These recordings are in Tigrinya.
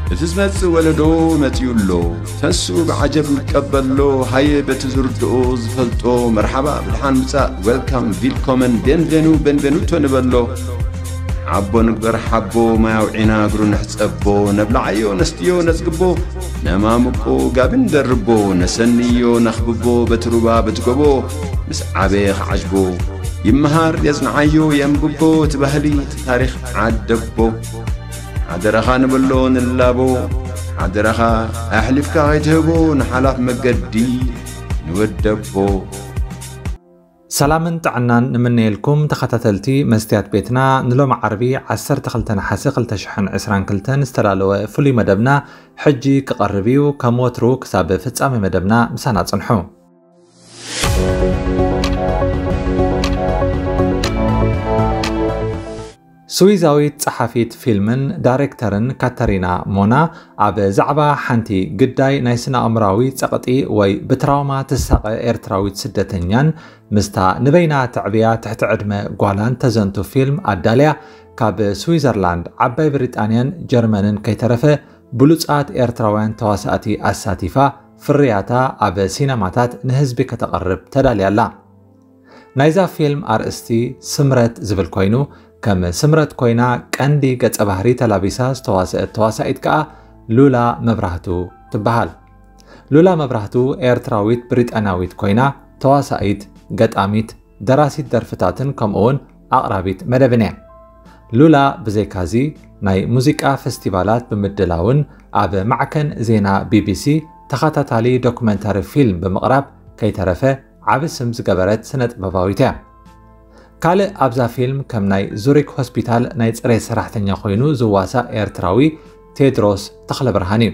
እቲ ዝመጽእ ወለዶ መጺኡ ኣሎ። ተስኡ ብዓጀብ ይቀበሎ። ሃየ በቲ ዝርድኦ ዝፈልጦ መርሓባ ብድሓን ምጻእ፣ ዌልካም፣ ቪልኮመን፣ ቤንቬኑ፣ ቤንቬኑቶ ንበሎ። ዓቦ ንግበር ሓቦ፣ ማይ ኣውዒና እግሩ ንሕጸቦ። ነብልዓዮ ነስትዮ ነጽግቦ፣ ነማምቆ ጋቢ ንደርቦ። ነሰንዮ ነኽብቦ በቲ ሩባ በቲ ጎቦ። ምስ ዓበየ ክዓጅቦ፣ ይመሃር የጽንዓዮ የንብቦ። እቲ ባህሊ እቲ ታሪኽ ዓደቦ። ሓደራኻ ንበሎ ንላቦ፣ ሓደራኻ ኣሕሊፍካ ከይትህቦ ንሓላፍ መገዲ ንወደቦ። ሰላምን ጥዕናን ንምነየልኩም ተኸታተልቲ መስትያት ቤትና። ንሎሚ ዓርቢ ዓሰርተ ክልተ ነሓሰ ክልተ ሽሕን ዕስራን ክልተን ዝተላለወ ፍሉይ መደብና ሕጂ ክቐርብ እዩ። ከም ወትሩ ክሳብ ፍጻሜ መደብና ምሳና ጽንሑ። ስዊዛዊት ጸሓፊት ፊልምን ዳይሬክተርን ካተሪና ሞና ኣብ ዛዕባ ሓንቲ ግዳይ ናይ ስነ ኣእምራዊ ጸቕጢ ወይ ብትራውማ ትሳቐ ኤርትራዊት ስደተኛን ምስታ ንበይና ተዕብያ ትሕቲ ዕድመ ጓላን ተዘንቱ ፊልም ኣዳልያ ካብ ስዊዘርላንድ፣ ዓባይ ብሪጣንያን ጀርመንን ከይተረፈ ብሉጻት ኤርትራውያን ተዋሳእቲ ኣሳቲፋ ፍርያታ ኣብ ሲነማታት ንህዝቢ ከተቕርብ ተዳልያ ኣላ። ናይዛ ፊልም ኣርእስቲ ስምረት ዝብል ኮይኑ ከም ስምረት ኮይና ቀንዲ ገጸ ባህሪ ተላቢሳ ዝተዋሰአት ተዋሳኢት ከኣ ሉላ መብራህቱ ትበሃል። ሉላ መብራህቱ ኤርትራዊት ብሪጣንያዊት ኮይና ተዋሳኢት፣ ገጣሚት፣ ደራሲት ደርፍታትን ከምኡውን ኣቕራቢት መደብን እያ። ሉላ ብዘይካዚ ናይ ሙዚቃ ፈስቲቫላት ብምድላውን ኣብ ማዕከን ዜና ቢቢሲ ተኸታታሊ ዶክመንታሪ ፊልም ብምቕራብ ከይተረፈ ዓቢ ስም ዝገበረት ስነ ጥበባዊት እያ። ካልእ ኣብዛ ፊልም ከም ናይ ዙሪክ ሆስፒታል ናይ ጽሬት ሰራሕተኛ ኮይኑ ዝዋሳእ ኤርትራዊ ቴድሮስ ተኽለብርሃን እዩ።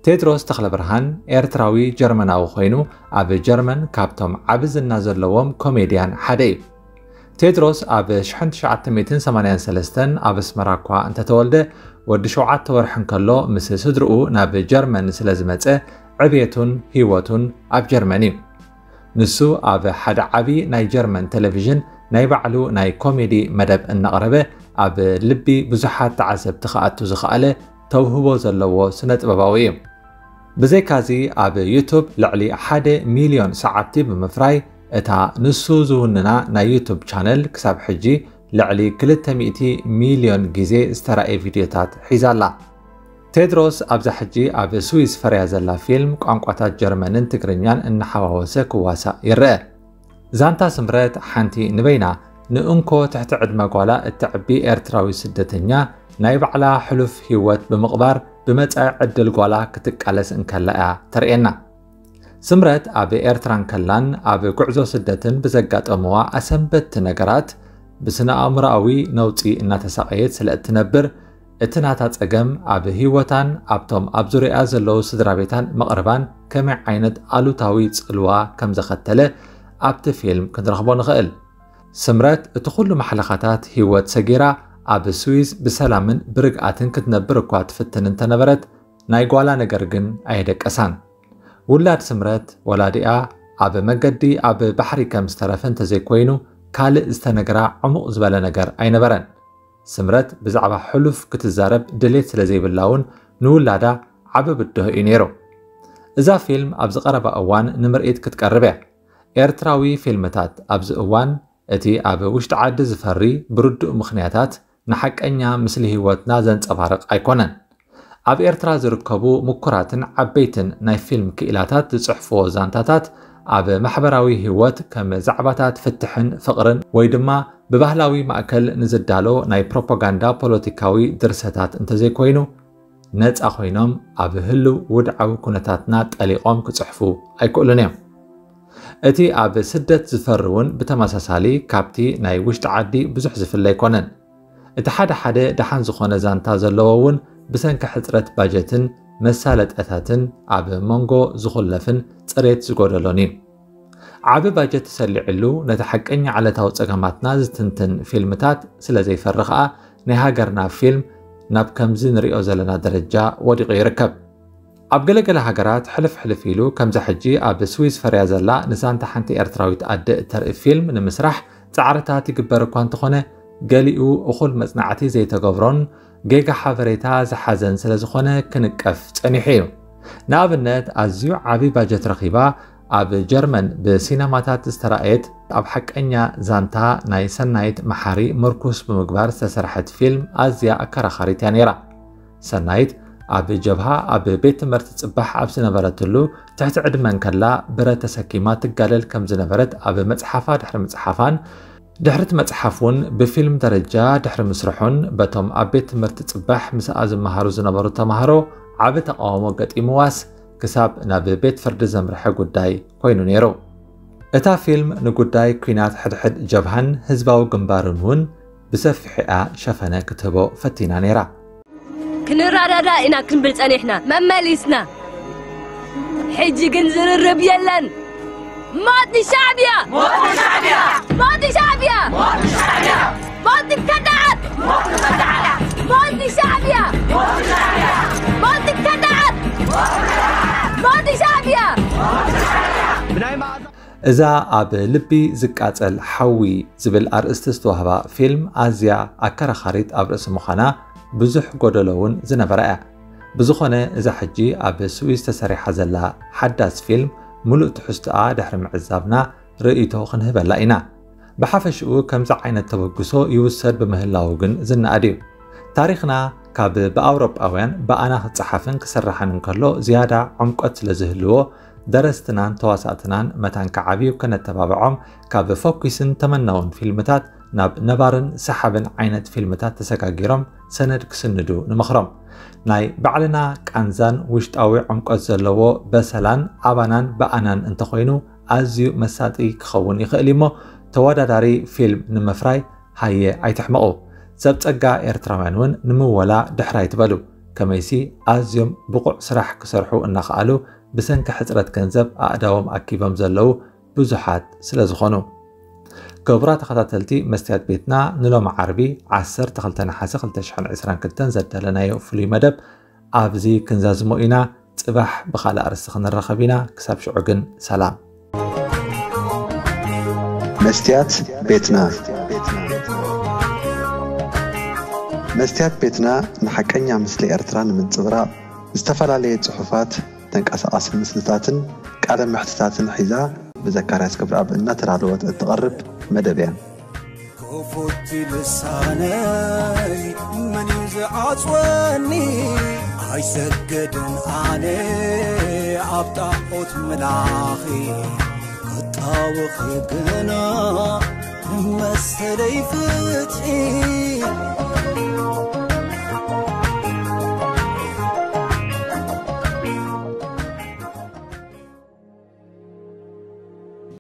ቴድሮስ ተኽለብርሃን ኤርትራዊ ጀርመናዊ ኮይኑ ኣብ ጀርመን ካብቶም ዓቢ ዝና ዘለዎም ኮሜድያን ሓደ እዩ። ቴድሮስ ኣብ ሽሕን ትሽዓተ ሚእትን ሰማንያን ሰለስተን ኣብ ኣስመራ እኳ እንተተወልደ ወዲ ሸውዓተ ወርሒ እንከሎ ምስ ስድርኡ ናብ ጀርመን ስለ ዝመጸ ዕብየቱን ህይወቱን ኣብ ጀርመን እዩ። ንሱ ኣብ ሓደ ዓቢ ናይ ጀርመን ቴሌቪዥን ናይ ባዕሉ ናይ ኮሜዲ መደብ እናቕረበ ኣብ ልቢ ብዙሓት ተዓዘብቲ ክኣቱ ዝኸኣለ ተውህቦ ዘለዎ ስነ ጥበባዊ እዩ። ብዘይካዚ ኣብ ዩቱብ ልዕሊ ሓደ ሚልዮን ሰዓብቲ ብምፍራይ እታ ንሱ ዝውንና ናይ ዩቱብ ቻነል ክሳብ ሕጂ ልዕሊ ክልተ ሚእቲ ሚልዮን ግዜ ዝተራእየ ቪድዮታት ሒዛ ኣላ። ቴድሮስ ኣብዛ ሕጂ ኣብ ስዊስ ፈርያ ዘላ ፊልም ቋንቋታት ጀርመንን ትግርኛን እናሓዋወሰ ክዋሳእ ይረአ። ዛንታ ስምረት ሓንቲ ንበይና ንእንኮ ትሕቲ ዕድመ ጓላ እተዕቢ ኤርትራዊ ስደተኛ ናይ ባዕላ ሕሉፍ ህይወት ብምቕባር ብመጻኢ ዕድል ጓላ ክትቃለስ እንከላ እያ ተርእየና። ስምረት ኣብ ኤርትራ እንከላን ኣብ ጉዕዞ ስደትን ብዘጋጠምዋ ኣሰንበድቲ ነገራት ብስነ ኣእምሮኣዊ ነውጺ እናተሳቐየት ስለ እትነብር እቲ ናታ ጸገም ኣብ ህይወታን ኣብቶም ኣብ ዙርያኣ ዘለዉ ስድራ ቤታን መቕርባን ከመይ ዓይነት ኣሉታዊ ጽልዋ ከም ዘኸተለ ኣብቲ ፊልም ክንረኽቦ ንኽእል። ስምረት እቲ ኩሉ ማሕለኻታት ህይወት ሰጊራ ኣብ ስዊዝ ብሰላምን ብርግኣትን ክትነብር እኳ ትፍትን እንተነበረት ናይ ጓላ ነገር ግን ኣየደቀሳን። ውላድ ስምረት ወላዲኣ ኣብ መገዲ ኣብ ባሕሪ ከም ዝተረፈ እንተዘይኮይኑ ካልእ ዝተነግራ ዕሙቕ ዝበለ ነገር ኣይነበረን። ስምረት ብዛዕባ ሕሉፍ ክትዛረብ ድሌት ስለ ዘይብላ እውን ንውላዳ ዓቢ ብድሆ እዩ ነይሩ። እዛ ፊልም ኣብዚ ቀረባ እዋን ንምርኢት ክትቀርብ እያ። ኤርትራዊ ፊልምታት ኣብዚ እዋን እቲ ኣብ ውሽጢ ዓዲ ዝፈሪ ብርዱእ ምኽንያታት ንሓቀኛ ምስሊ ህይወትና ዘንጸባርቕ ኣይኮነን። ኣብ ኤርትራ ዝርከቡ ምኩራትን ዓበይትን ናይ ፊልም ክኢላታት ዝጽሕፍዎ ዛንታታት ኣብ ማሕበራዊ ህይወት ከም ዛዕባታት ፍትሕን ፍቕርን ወይ ድማ ብባህላዊ ማእከል ንዝዳሎ ናይ ፕሮፓጋንዳ ፖለቲካዊ ድርሰታት እንተዘይኮይኑ ነጻ ኮይኖም ኣብ ህልው ውድዓዊ ኩነታትና ጠሊቖም ክጽሕፉ ኣይክእሉን እዮም። እቲ ኣብ ስደት ዝፈሪ እውን ብተመሳሳሊ ካብቲ ናይ ውሽጢ ዓዲ ብዙሕ ዝፍለ ኣይኮነን። እቲ ሓደ ሓደ ደሓን ዝኾነ ዛንታ ዘለዎ እውን ብሰንኪ ሕጽረት ባጀትን መሳለጠታትን ኣብ መንጎ ዝኹለፍን ጽሬት ዝጎደሎን እዩ። ዓቢ ባጀት ተሰሊዕሉ ነቲ ሓቀኛ ዕለታዊ ጸገማትና ዝትንትን ፊልምታት ስለ ዘይፈሪ ከኣ ናይ ሃገርና ፊልም ናብ ከምዚ ንሪኦ ዘለና ደረጃ ወዲቑ ይርከብ። ኣብ ገለገለ ሃገራት ሕልፍ ሕልፍ ኢሉ ከምዛ ሕጂ ኣብ ስዊዝ ፈርያ ዘላ ንዛንታ ሓንቲ ኤርትራዊት ኣደ እተርኢ ፊልም ንምስራሕ ጻዕርታት ይግበር እኳ እንተኾነ ገሊኡ እኹል መጽናዕቲ ዘይተገብሮን ጌጋ ሓበሬታ ዝሓዘን ስለ ዝኾነ ክንቀፍ ጸኒሑ እዩ። ንኣብነት፣ ኣዝዩ ዓቢ ባጀት ረኺባ ኣብ ጀርመን ብሲነማታት ዝተራእየት፣ ኣብ ሓቀኛ ዛንታ ናይ ሰናይት መሓሪ ምርኩስ ብምግባር ዝተሰርሐት ፊልም ኣዝያ ኣከራኻሪት እያ ነይራ። ሰናይት ኣብ ጀብሃ ኣብ ቤት ትምህርቲ ጽባሕ ኣብ ዝነበረትሉ፣ ትሕቲ ዕድመ እንከላ ብረት ተሰኪማ ትጋደል ከም ዝነበረት ኣብ መጽሓፋ ድሕሪ ምጽሓፋን፣ ድሕሪ እቲ መጽሓፍ እውን ብፊልም ደረጃ ድሕሪ ምስርሑን፣ በቶም ኣብ ቤት ትምህርቲ ጽባሕ ምስኣ ዝመሃሩ ዝነበሩ ተማሃሮ ዓቢ ተቓውሞ ገጢምዋስ፣ ክሳብ ናብ ቤት ፍርዲ ዘምርሐ ጉዳይ ኮይኑ ነይሩ። እታ ፊልም ንጉዳይ ኲናት ሕድሕድ ጀብሃን ህዝባዊ ግንባርን እውን ብሰፊሑ እያ ሸፈነ ክትህቦ ፈቲና ነይራ። ክንረዳዳ ኢና ክንብል ጸኒሕና፣ መመሊስና። ሕጂ ግን ዝርርብ የለን። ሞት ንሻዕብያ! ሞት ንሻዕብያ! ሞት ንሻዕብያ! ሞት ንሻዕብያ! ሞት ንከዳዓት! ሞት ንከዳዓት! ሞት ንሻዕብያ! ሞት ንሻዕብያ! ሞት ንከዳዓት! ሞት ንሻዕብያ! እዛ ኣብ ልቢ ዝቃጸል ሓዊ ዝብል ኣርእስቲ ዝተዋህባ ፊልም ኣዝያ ኣከራኻሪት ኣብ ርእሲ ምዃና ብዙሕ ጎደሎ እውን ዝነበራ እያ። ብዝኾነ እዛ ሕጂ ኣብ ስዊዝ ተሰሪሓ ዘላ ሓዳስ ፊልም ምሉእ ትሕዝቶኣ ድሕሪ ምዕዛብና ርእይቶ ክንህበላ ኢና። ብሓፈሽኡ ከምዚ ዓይነት ተበግሶ ይውሰድ ብምህላዉ ግን ዝነኣድ እዩ። ታሪኽና ካብ ብኣውሮጳውያን ብኣና ክጸሓፍን ክስራሕን እንከሎ ዝያዳ ዕምቆት ስለ ዝህልዎ ደረስትናን ተዋሳእትናን መታን ክዓብዩ ከነተባብዖም ካብ ፈኲስን ተመናውን ፊልምታት ናብ ነባርን ሰሓብን ዓይነት ፊልምታት ተሰጋጊሮም ሰነድ ክስንዱ ንመኽሮም። ናይ ባዕልና ቃንዛን ውሽጣዊ ዕምቆት ዘለዎ በሰላን ኣባናን ብኣናን እንተኾይኑ ኣዝዩ መሳጢ ክኸውን ይኽእል እዩ እሞ ተወዳዳሪ ፊልም ንምፍራይ ሃየ ኣይትሕመቑ። ሰብ ጸጋ ኤርትራውያን እውን ንምወላ ድሕር ኣይትበሉ። ከመይሲ ኣዝዮም ብቑዕ ስራሕ ክሰርሑ እናኸኣሉ ብሰንኪ ሕጽረት ገንዘብ ኣእዳዎም ኣኪቦም ዘለዉ ብዙሓት ስለ ዝኾኑ። ክቡራት ተኸታተልቲ መስትያት ቤትና ንሎሚ ዓርቢ ዓሰርተ ክልተ ነሓሰ ክልተ ሽሕን ዕስራን ክልተን ዘዳለናዮ ፍሉይ መደብ ኣብዚ ክንዛዝሞ ኢና። ጽባሕ ብኻልእ ኣርእስቲ ክንራኸብ ኢና። ክሳብ ሽዑ ግን ሰላም። መስትያት ቤትና መስትያት ቤትና ንሓቀኛ ምስሊ ኤርትራ ንምንጽብራቕ ዝተፈላለየ ጽሑፋት፣ ተንቀሳቓሲ ምስልታትን ቃለ መሕትታትን ሒዛ ብዘካርያስ ክብረኣብ እናተዳለወት እትቐርብ መደብ እያ። ክፉት ልሳነይ መን እዩ ዝዓጽወኒ? ኣይሰገድን ኣነ ኣብ ጣዖት ምላኺ ክጣወኺ ግና ንመሰለይ ፍትሒ